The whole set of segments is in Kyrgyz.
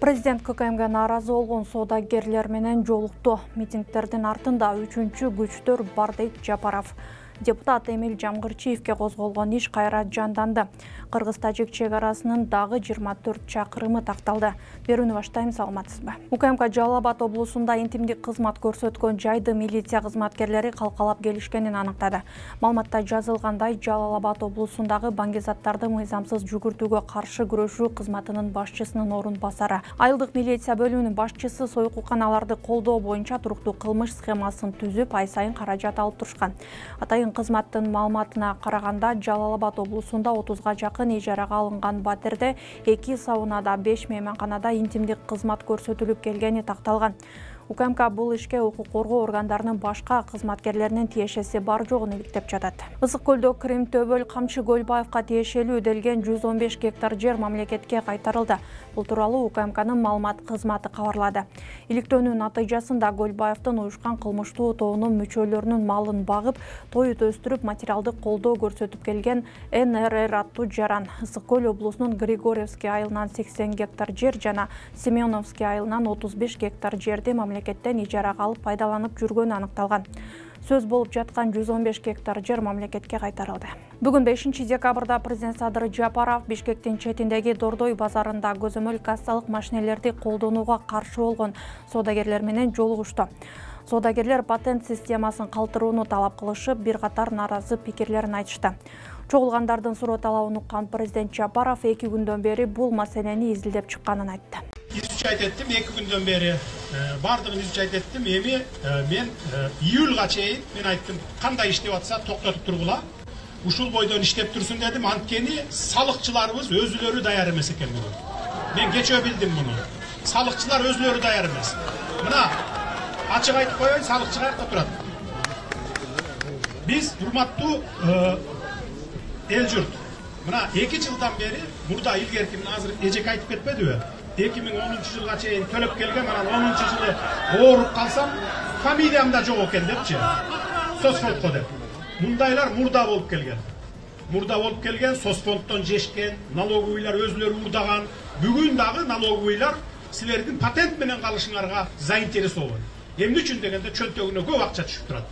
Президент ККМге нааразы болгон соодагерлер менен жолукту. Митингдердин артында үчүнчү күчтөр бар дейт Жапаров. Депутат Эмил Жамгырчиевке козголгон иш кайра жанданды. Кыргыз-тажик чек арасынын дагы 24 чакырымы такталды. Берүүнү баштайм, саламатсызбы? УКМК Жалал Абад облусунда интимдик кызмат көрсөткөн жайды милиция кызматкерлери калкалап келишкенин аныктады. Маалыматта жазылгандай, Жалал Абад облусундагы баңгизаттарды мыйзамсыз жүгүртүүгө каршы күрөшүү кызматынын башчысынын орун басары. Айылдык милиция бөлүмүнүн башчысы союкуканаларды колдоо боюнча туруктуу кылмыш схемасын түзүп, ай сайын каражат алып турушкан. Атайын кызматтын маалыматына караганда, Жалал Абад облусунда 30га жакын ижарага алынган батирде 2 саунада, 5 мейманканада интимдик кызмат көрсөтүлүп келгени такталган. УКМК бул ишке укук коргоо органдарынын башка кызматкерлеринин тиешеси бар жогун иликтеп жатат. Ысык көлдө Крим Төбөл Камчы Көлбаевка тиешелүү делген 115 гектар жер мамлекетке кайтарылды. Бул тууралуу УКМКнын маалымат кызматы кабарлады. Иликтөөнүн натыйжасында Көлбаевдин уюшкан кылмыштуу тобунун мүчөлөрүнүн малын багып, тоют өстүрүп, материалдык колдоо көрсөтүп келген НРР аттуу жаран Ысык көл облусунун Григорьевский айылынан 80 гектар жер жана Семеновский айылынан 35 гектар жерди мамлекеттен ижарага алып пайдаланып жүргөнү аныкталган. Сөз болуп жаткан 115 гектар жер мамлекетке кайтарылды. Бүгүн 5 декабрда президент Садыр Жапаров Бишкектин четиндеги Дордой базарында көзөмөл кассалык машинелерди колдонууга каршы болгон соодагерлер менен жолугушту. Соодагерлер патент системасын калтырууну талап кылышып, бир катар нааразы пикирлерин айтышты. Чогулгандардын суроо талабын уккан президент Жапаров 2 күндөн бери бул маселени изилдеп чыкканын айтты. Изучать еттим 2 күндөн бери. Бардыгын изучать еттим. Эми мен июлга чейин мен айттым, кандай иштеп атса токтотуп тургула. Ушул бойдон иштеп турсун дедим. Анткени салыкчыларыбыз өзүлөрү даяр эмес экен бүгүн. Мен кечөө билдим муну. Салыкчылар өзүлөрү даяр эмес. Мына ачык айтып коеюн, салыкчы каякта турат. Биз урматтуу эл журт. Мына 2 жылдан бери мурда илгерки азыр эжек айтып кетпедиби? 2010 жылга чейин төлөп келген, анан 10 жылы ооруп калсам, фамилиям да жок экен депчи. Соцфондко деп. Мундайлар мурда болуп келген. Мурда болуп келген, соцфонддон жешкен, налоговыйлар өзүлөрү урдаган. Бүгүн дагы налоговыйлар силердин патент менен калышыңарга заинтересован. Эмне үчүн дегенде чөнтөгүнө көп акча түшүп турат.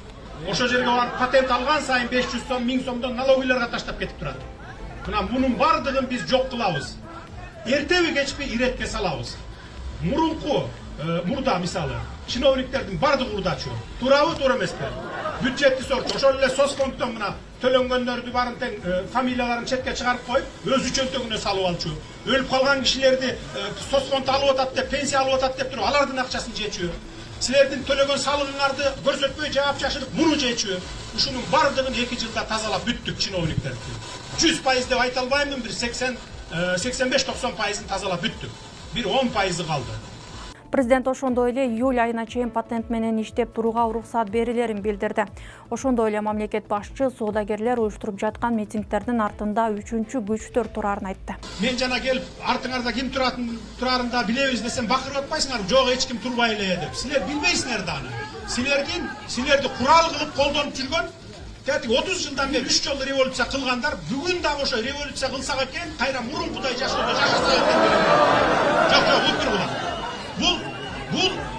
Ошо жерге барып патент алган сайын 500 сом, 1000 сомдон налоговыйларга таштап кетип турат. Мына мунун бардыгын биз жок кылабыз. Эртеби кечпи иретке салабыз. Мурда мисалы чиновниктердин бардыгы урдачу. Туурабы, туура эмеспи? Бюджетти сорчу. Ошол эле соцфонддон мына төлөнгөндөрдү барын тең фамилияларын четке чыгарып коюп, өз чөнтөгүнө салып алчу. Өлүп калган кишилерди соцфонд алып атат деп, пенсия алып атат деп туруп, алардын акчасын жечү. Силердин төлөгөн салыгыңарды көрсөтпөй жаап чашырып, муну жечү. Ушунун бардыгын 2 жылда тазалап бүттүк чиновниктерди. 100% деп айта албаймын, бир 85-90% тазалап бүттүк. Бир 10% калды. Президент ошондой эле июль айына чейин патент менен иштеп турууга уруксат берилерин билдирди. Ошондой эле мамлекет башчы соодагерлер уюштуруп жаткан митингдердин артында үчүнчү күчтөр турарын айтты. Мен жана келип артыңарда ким турарын да билебиз десем бакырып атпайсыңар, жок эч ким турбай эле деп. Силер билбейсиңер да аны. Силерди курал кылып колдонуп жүргөн 30 жылдан бери 3 жолу революция кылгандар бүгүн дагы ошо революция кылсак экен, кайра мурункудай жашоодо жашаса экен. Жок, утургула. Бул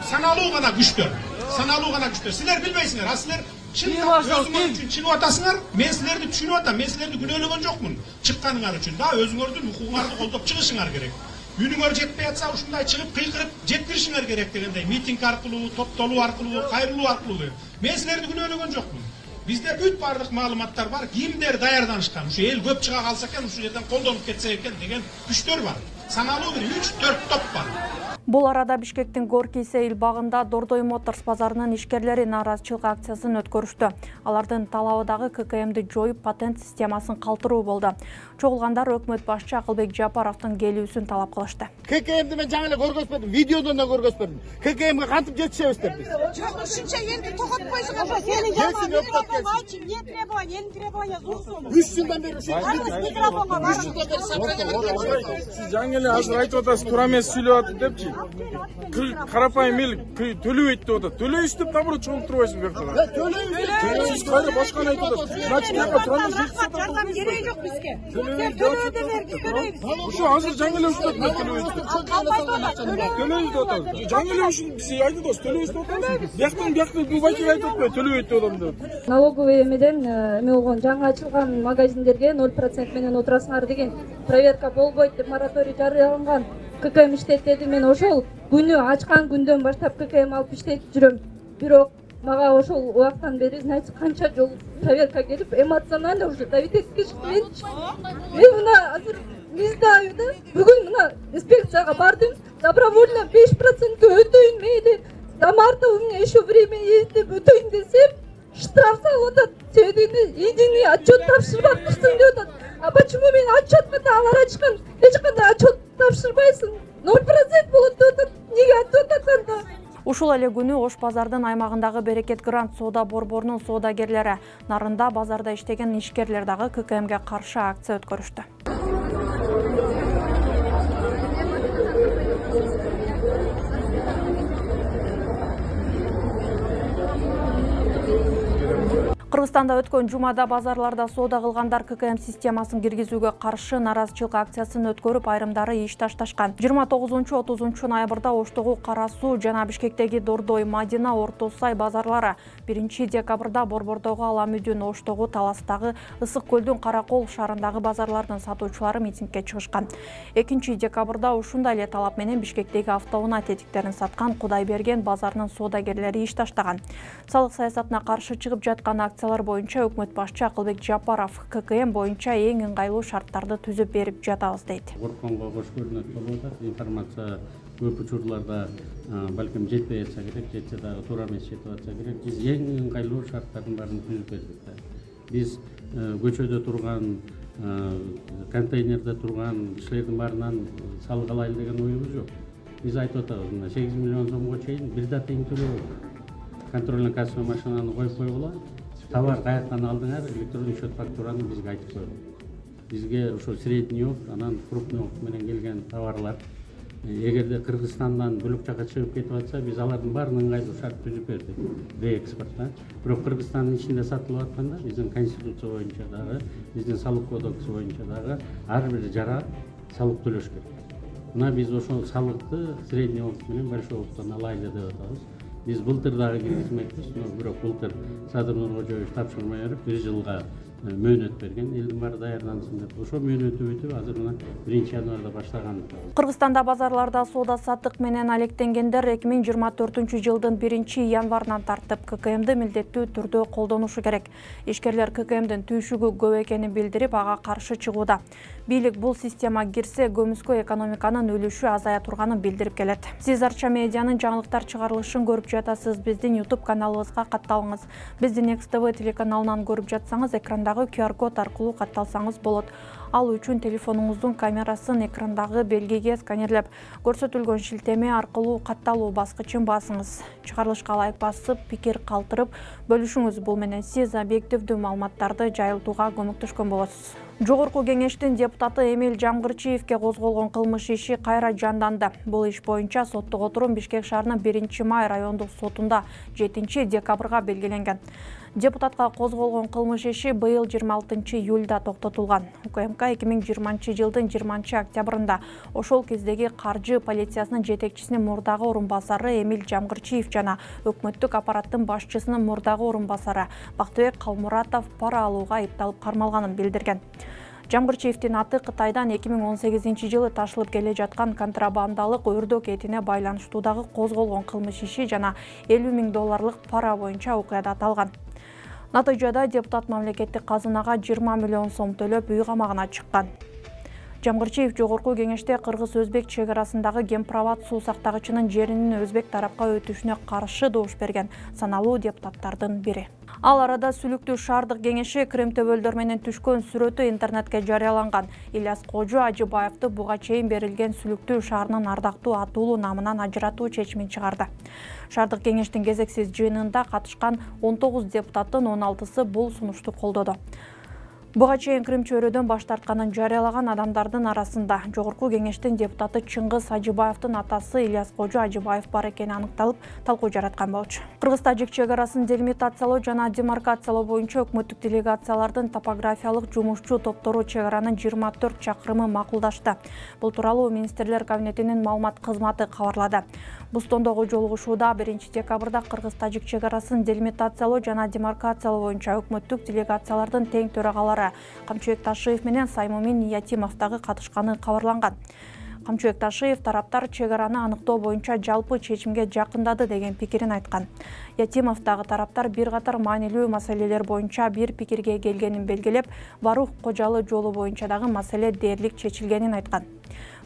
саналуу гана күчтөр. Силер билбейсиңер, а силер өзүңөр үчүн чыгып атасыңар. Мен силерди түшүнүп атам, мен силерди күнөөлөгөн жокмун. Чыкканыңар үчүн да өзүңөрдүн укугуңарды колдоп чыгышыңар керек. Үнүңөр жетпей атса, ушундай чыгып кыйкырып жеткиришиңер керек дегендей, митинг аркылуу, топтолуу аркылуу, кайрылуу аркылуу. Мен силерди күнөөлөгөн жокмун. Бизде бүт бардык маалыматтар бар, кимдер даярданышкан, ушу эл көп чыга калса экен, ушул жерден колдонуп кетсе экен деген күчтөр бар. Саналуу бир 3-4 топ бар. Бул арада Бишкектин Горький сейил багында Дордой Моторс базарынын ишкерлери нааразычылык акциясын өткөрүштү. Алардын талабы дагы ККМди жоюп, патент системасын калтыруу болду. Чогулгандар өкмөт башчы Акылбек Жапаровдун келүүсүн талап кылышты. ККМди мен жаңы эле көргөзбөдүм, видеодон да көргөзбөдүм. ККМге кантип жетишебиз деп биз. Жок, ушунча элди токотпойсуңар. Сенин требования, зурсун. 3 жылдан бери микрофонго бар. Сиз жаңы эле азыр айтып атасыз, туура эмес сүйлөп атып депчи. карапайым эл төлөбөйт деп атат. Төлөйбүз деп наоборот чогулуп турбайсызбы бияктан? Төлөйбүз. Сиз кайра башканы айтып атасыз. Значит, буга турганыңыз жардам кереги жок бизге. Төлөө деп төлөйбүз. Ошо азыр жаңы эле уктап төлөбөйт деп. Төлөйбүз деп атат. Жаңы эле ушул биз айтып атабыз, төлөйбүз деп атабыз. Бияктан бул байкага айтып атпайбы, төлөбөйт деп атам деп. Налоговый эмеден эме болгон жаңы ачылган магазиндерге 0% менен отурасыңар деген проверка болбойт деп мораторий жарыяланган. ККМ иштетти. Мен ошол күнү ачкан күндөн баштап ККМ алып иштетип жүрөм. Бирок мага ошол убакыттан бери, значит, канча жол проверка келип, эмоционально уже давить эткичти менчи. Мен мына азыр миздайм да. Бүгүн мына инспекцияга бардым. Добровольно 5% өтөйүн мейли. До марта у меня еще время есть деп өтөйүн десем, штраф салып атат. Себеби единый отчет тапшырбапсың деп атат. А почему мен отчет менен алар ачкан? Эч кандай отчет тапшырбайсың. 0% болот деп атат. Неге айтып атат анда? Ушул эле күнү Ош базардын аймагындагы Берекет Грант соода борборунун соодагерлери нарында базарда иштеген ишкерлер дагы ККМге каршы акция өткөрүштү. Кыргызстанда өткөн жумада базарларда соода кылгандар ККМ системасын киргизүүгө каршы наразычылык акциясын өткөрүп, айрымдары иш ташташкан. 29-30 ноябрда Оштогу Кара Суу жана Бишкектеги Дордой, Мадина, Орто Сай базарлары, 1 декабрда Борбордогу Аламүдүн, Оштогу Таластагы, Ысык Көлдүн Каракол шаарындагы базарлардын сатуучулары митингге чыгышкан. 2 декабрда ушундай эле талап менен Бишкектеги автоунаа тетиктерин саткан Кудайберген базарынын соодагерлери иш таштаган. Салык саясатына каршы чыгып жаткан акциялар боюнча өкмөт башчы Акылбек Жапаров ККМ боюнча эң ыңгайлуу шарттарды түзүп берип жатабыз дейт. Коркконго кош көрүнөт болуп атат. Информация көп учурларда балким жетпей жатса керек, жетсе дагы туура эмес жетип атса керек. Биз эң ыңгайлуу шарттардын баарын түзүп бердик. Биз көчөдө турган, контейнерде турган кишилердин баарынан салык алайлы деген оюбуз жок. Биз айтып атабыз, мына 8 миллион сомго чейин бир да тең төлөбөйт. Контрольный кассовый машинаны коюп койгула. Товар каяктан алдыңар, электрондук счет фактураны бизге айтып койгула. Бизге ошо средний опт, анан крупный опт менен келген товарлар эгерде Кыргызстандан бөлөк жака чыгып кетип атса, биз алардын баарын ыңгайлуу шарт түзүп бердик. Реэкспортта. Бирок Кыргызстандын ичинде сатылып атканда биздин конституция боюнча дагы, биздин салык кодекси боюнча дагы ар бир жара салык төлөш керек. Мына биз ошол салыкты средний опт менен большой опттон алайлы деп атабыз. Биз былтыр дагы киргизмекпиз, бирок былтыр Садыр Нуркожоевич тапшырма берип 1 жылга мөөнөт берген, элдин баары даярдансын деп. Ошо мөөнөтү бүтүп, азыр мына 1 январда баштаган. Кыргызстанда базарларда соода саттык менен алектенгендер 2024-жылдын 1 январынан тартып ККМди милдеттүү түрдө колдонушу керек. Ишкерлер ККМдин түйшүгү көп экенин билдирип, ага каршы чыгууда. Бийлик бул система кирсе, көмүскө экономиканын өлүшү азая турганын билдирип келет. Сиз Арча медианын жаңылыктар чыгарылышын көрүп жатасыз. Биздин YouTube каналыбызга катталыңыз. Биздин XTV телеканалынан көрүп жатсаңыз, экрандагы QR код аркылуу катталсаңыз болот. Ал үчүн телефонуңуздун камерасын экрандагы белгиге сканерлеп, көрсөтүлгөн шилтеме аркылуу катталуу баскычын басыңыз. Чыгарылышка ылайык басып, пикир калтырып бөлүшүңүз. Бул менен сиз объективдүү маалыматтарды жайылтууга көмөктөшкөн болосуз. Жогорку кеңештин депутаты Эмиль Жамгырчиевке козголгон кылмыш иши кайра жанданды. Бул иш боюнча соттук отурум Бишкек шаарынын 1-май райондук сотунда 7 декабрга белгиленген. Депутатка козголгон кылмыш иши быйыл 26 июлда токтотулган. УКМК 2020 жылдын 20 октябрында ошол кездеги каржы полициясынын жетекчисинин мурдагы орун басары Эмиль Жамгырчиев жана өкмөттүк аппараттын башчысынын мурдагы орун басары Бактыбек Калмуратов пара алууга айыпталып кармалганын билдирген. Жамгырчиевдин аты Кытайдан 2018 жылы ташылып келе жаткан контрабандалык өрдөк этине байланыштуудагы козголгон кылмыш иши жана $50,000 пара боюнча окуяда аталган. Натыйжада депутат мамлекеттик казынага 20 миллион сом төлөп үй камагына чыккан. Жамгырчиев жогорку кеңеште кыргыз-өзбек чек арасындагы Гемпроват суу сактагычынын жеринин өзбек тарапка өтүшүнө каршы добуш берген саналуу депутаттардын бири. Ал арада Сүлүктүү шаардык кеңеши Крым төбөлдөр менен түшкөн сүрөтү интернетке жарыяланган. Ильяс Кожу Ажыбаевди буга чейин берилген Сүлүктүү шаарынын ардактуу атуулу намынан ажыратуу чечимин чыгарды. Шаардык кеңештин кезексиз жыйынында катышкан 19 депутаттын 16сы бул сунушту колдоду. Буга чейин Крым чөйрөдөн баш тартканын жарыялаган адамдардын арасында Жогорку Кеңештин депутаты Чыңгыз Ажыбаевдин атасы Ильяс Кожо Ажыбаев бар экени аныкталып, талкуу жараткан болчу. Кыргыз-тажик чек арасын делимитациялоо жана демаркациялоо боюнча өкмөттүк делегациялардын топографиялык жумушчу топтору чек аранын 24 чакырымы макулдашты. Бул тууралуу Министрлер кабинетинин маалымат кызматы кабарлады. Бустондогу жолугушууда 1 декабрда Кыргыз-тажик чек арасын делимитациялоо жана демаркациялоо боюнча өкмөттүк делегациялардын тең төрагалары Камчыбек Ташиев менен Саймумин Ятимов дагы катышканы кабарланган. Камчыбек Ташиев тараптар чек араны аныктоо боюнча жалпы чечимге жакындады деген пикирин айткан. Ятимов дагы тараптар бир катар маанилүү маселелер боюнча бир пикирге келгенин белгилеп, Барух Кожалы жолу боюнча дагы маселе дээрлик чечилгенин айткан.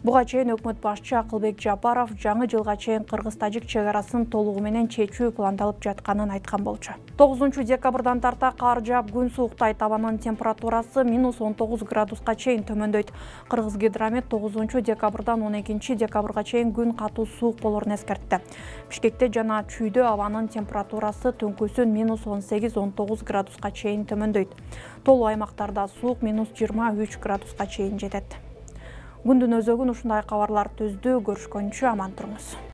Буга чейин өкмөт башчы Акылбек Жапаров жаңы жылга чейин Кыргыз-тажик чек арасын толугу менен чечүү пландалып жатканын айткан болчу. 9 декабрдан тарта кар жаап күн сууктайт, абанын температурасы -19 градуска чейин төмөндөйт. Кыргызгидромет 9 декабрдан 12 декабрга чейин күн катуу суук болорун эскертти. Бишкекте жана Чүйдө абанын температурасы түнкүсүн -18-19 градуска чейин төмөндөйт. Толуу аймактарда суук -23 градуска чейин жетет. Күндүн өзөгүн ушундай кабарлар түздү. Көрүшкөнчө аман туруңуз.